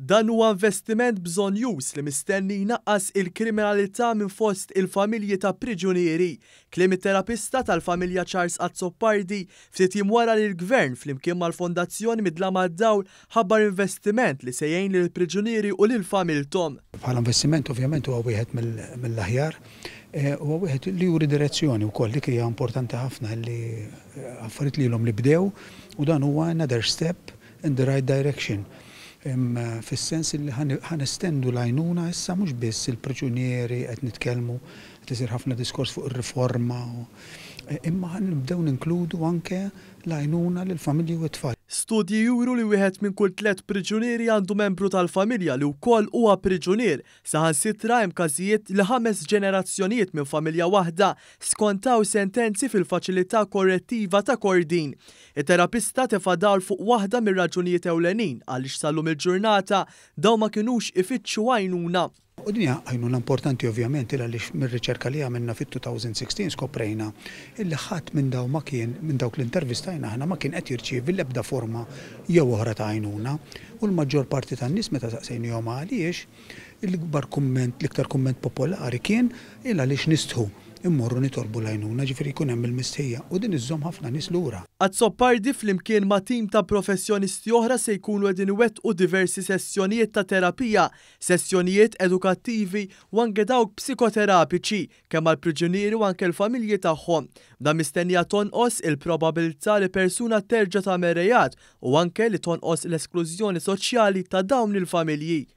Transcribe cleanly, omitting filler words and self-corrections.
Dan huwa investiment bżonnjuż li mistenni jnaqqas il-kriminalità minn fost il-familji ta' priġunieri. Kliem it-terapista tal-familja Charles Azzopardi ftit jiem wara li l-Gvern flimkien mal-Fondazzjoni Mid-Dlam għad-Dawl ħabbar investiment li se jgħin lill-priġunieri u lil familthom. Bħala investiment ovvjament huwa wieħed mill-aħjar. Huwa wieħed li juri direzzjoni wkoll, dik hija importanti ħafna li affarijiet li ilhom li bdew u dan huwa another step in the right direction. Fis-sens li ħa nestendu l-għajnuna issa mhux biss il-priġunieri qed nitkellmu, qed isir ħafna diskors fuq ir-riforma, imma ħa nibdew ninkludu anke l-għajnuna lill-familji u t-tfal. Studji juru li wieħed minn kull tliet priġunieri għandu membru tal-familja li wkoll huwa priġunier. Saħansitra hemm każijiet li ħames ġenerazzjonijiet minn familja waħda skontaw sentenzi fil-faċilità korrettiva ta' Kordin. It-terapista tefa' dawl fuq waħda mir-raġunijiet ewlenin għaliex sal-lum il-ġurnata dawn ma kinux ifittxu għajnuna. U din hija għajnuna importanti ovvjament il għaliex mir-riċerka li għamilna fit-2016 skoprejna illi ħadd minn dawn ma kien, minn dawk li intervistajna aħna, ma kien qed jirċievi l-ebda forma jew oħra ta' għajnuna. U l-maġġor parti tan-nies meta saqsejnihom għaliex, l-ikbar kumment, l-iktar kumment popolari kien il għaliex nistħu immorru nitolbu l-għajnuna, ġifieri jkun hemm il-mistħija u din iżżomm ħafna nies lura. Azzopardi flimkien ma' tim ta' professjonisti oħra se jkunu qegħdin iwettqu diversi sessjonijiet ta' terapija, sessjonijiet edukattivi u anke dawk psikoterapiċi, kemm għall-priġunieri u anke l-familji tagħhom. Dan mistennija tonqos il-probabilità li persuna terġa' tagħmel reat u anke li tonqos l-esklużjoni soċjali ta' dawn il-familji.